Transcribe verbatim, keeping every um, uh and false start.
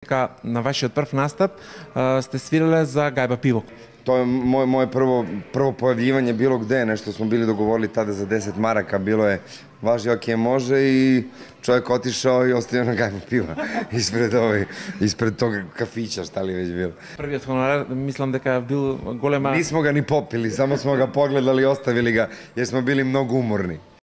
Дека на вашиот прв настап а, сте свирале за Гајба пиво. Тоа е моје моје прво прво појавljivање било где, нешто смо били договорили таде за десет марака, било е важи оке може и човек отишao и оставил на Гајба пиво испред овој испред тог кафиќа, шта ли веќе било. Првиот хонорар мислам дека бил голема. Нисмо га ни попили, само смо га погледали и оставили га, јер смо били многу уморни.